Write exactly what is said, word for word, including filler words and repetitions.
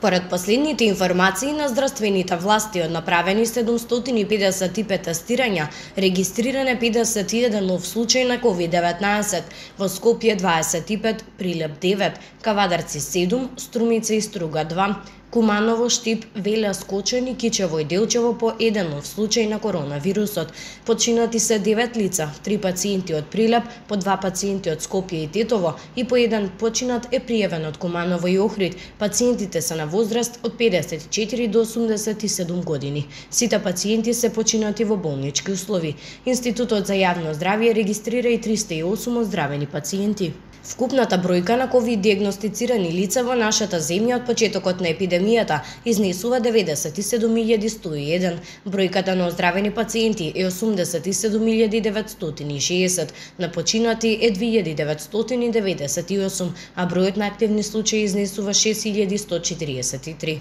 Според последните информации на здравствените власти од направени седумстотини и педесет и пет тестирања, регистриран е педесет и еден нов случај на ковид деветнаесет, во Скопје дваесет и пет, Прилеп девет, Кавадарци седум, Струмица и Струга два, Куманово, Штип, Велес, Скочани, Кичево и Делчево по еден нов случај на коронавирусот. Починати се девет лица, три пациенти од Прилеп, по два пациенти од Скопје и Тетово и по еден починат е пријавен од Куманово и Охрид. Пациентите се на возраст од педесет и четири до осумдесет и седум години. Сите пациенти се починати во болнички услови. Институтот за јавно здравје регистрира и триста и осум оздравени пациенти. Вкупната бројка на ковид диагностицирани лица во нашата земја од почетокот на епидемијата изнесува деветдесет и седум илјади сто и еден. Бројката на оздравени пациенти е осумдесет и седум илјади деветстотини и шеесет, на починати е две илјади деветстотини деветдесет и осум, а бројот на активни случаи изнесува шест илјади сто четиридесет и три.